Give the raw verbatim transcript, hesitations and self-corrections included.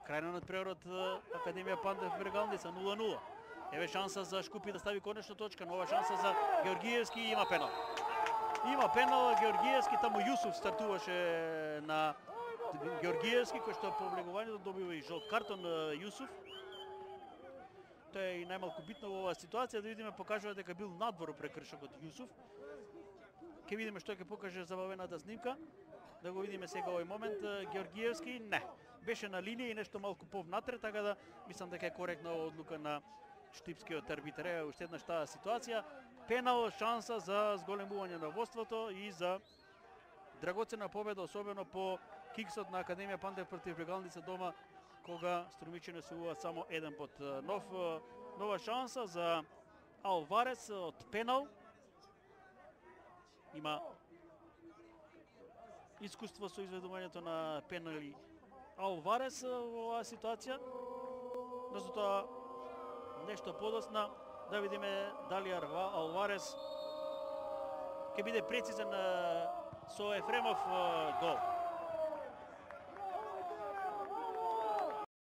Крајно над преорот Академија Пантев Брегалница нула нула. Еве шанса за Шкупи да стави конечно точка, нова шанса за Георгиевски и има пенал. Има пенал Георгиевски, таму Јусуф стартуваше на Георгиевски, кој што по влегувањето добива и жолт картон Јусуф. Тоа е и најмалку битно во оваа ситуација, да видиме покажува дека бил надвор прекршокот Јусуф. Ке видиме што ќе покаже забавената снимка. Да го видиме сега овој момент. Георгиевски не. Беше на линија и нешто малку повнатре, така да мислам дека е коректна одлука на штипскиот арбитар. Е, уште една таа ситуација. Пенал, шанса за зголемување на водството и за драгоцена победа, особено по киксот на Академија Пантев против Брегалница дома, кога Струмичани освојуваат само еден под. Нов, нова шанса за Алварес од пенал. Има искуство со изведувањето на пенали Алварес во оваа ситуација. Но за тоа нешто подосна да видиме дали Алварес ќе биде прецизен со Ефремов гол.